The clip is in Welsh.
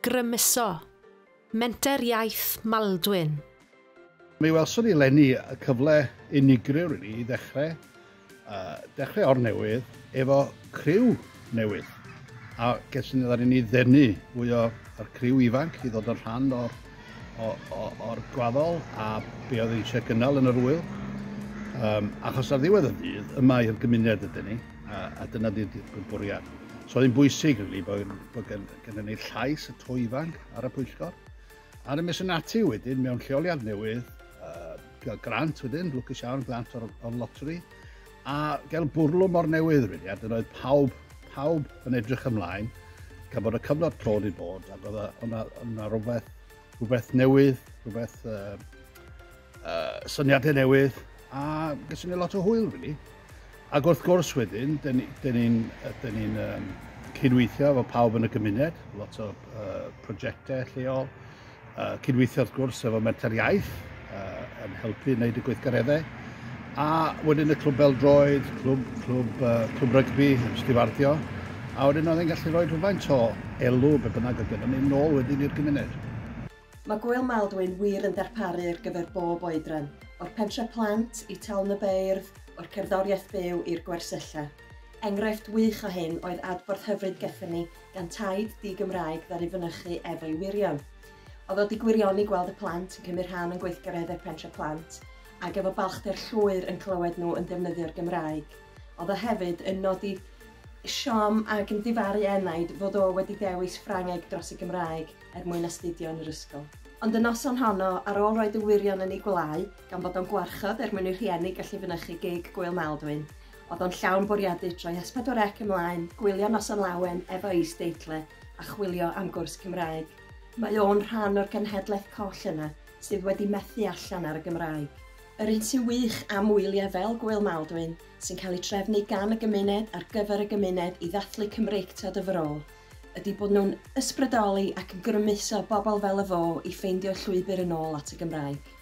Grymuso. Menter Iaith Maldwyn. Mi welson ni eleni y cyfle unigryw really, i ddechrau, dechrau o'r newydd efo criw newydd. A geson ni ddaru ni ddenu fwy o'r criw ifanc i ddod yn rhan o'r, o, o, o'r gwaddol a be oedd eisiau gynnal yn yr wyl. Achos ar ddiwedd y dydd, yma i'r gymuned ydyn ni, a dyna di'r bwriad. So oedd hi'n bwysig, really, bod gennym ni llais y to ifanc ar y pwyllgor. A nes yn ati wedyn mewn lleoliad newydd, gael grant wedyn, lwcus iawn, grant o'r lottery, a gael bwrlwm o'r newydd, really, a dyna oedd pawb yn edrych ymlaen, gan bod y cyfnod clo wedi bod, ac oedd yna rhywbeth newydd, rhywbeth syniadau newydd, a gyda ni lot o hwyl, really. Ac wrth gwrs wedyn, dyn ni'n ni cydweithio efo pawb yn y gymuned, lot o prosiectau lleol, cydweithio wrth gwrs efo Menter Iaith yn helpu wneud y gweithgareddau, a wedyn y clwb bêl-droed, clwb rygbi yn stiwardio, a wedyn oedd e'n gallu rhoi rhywfaint o elw be bynnag oedd gennym ni nôl wedyn i'r gymuned. Mae Gŵyl Maldwyn wir yn darparu ar gyfer bob oedran, o'r pentre plant i Taln y Beirdd, o'r cerddoriaeth byw i'r gwersylla. Enghraifft wych o hyn oedd adborth hyfryd gethon ni gan taid di-Gymraeg ddaru fynychu efo'i wyrion. Oedd o 'di gwirioni gweld y plant yn cymryd rhan yn gweithgareddau pentre plant, ac efo balchder llwyr yn clywed nhw yn defnyddio'r Gymraeg. Oedd o hefyd yn nodi siom ac yn difaru enaid fod o wedi dewis Ffrangeg dros y Gymraeg er mwyn astudio yn yr ysgol. Ond y noson honno, ar ôl roed y wyrion yn ei gwlâu, gan fod o'n gwarchod er mwyn i'r rhieni gallu fynychu gig Gŵyl Maldwyn, oedd o'n llawn bwriadu troi S4C ymlaen, gwylio Noson Lawen efo isdeitle a chwilio am gwrs Cymraeg. Mae o'n rhan o'r genhedlaeth coll yna sydd wedi methu allan ar y Gymraeg. Yr un sy'n wych am wyliau fel Gŵyl Maldwyn, sy'n cael ei trefnu gan y gymuned ar gyfer y gymuned i ddathlu Cymreictod y fro, ydy bod nhw'n ysbrydoli ac yn grymuso bobl fel y fo i ffeindio llwybr yn ôl at y Gymraeg.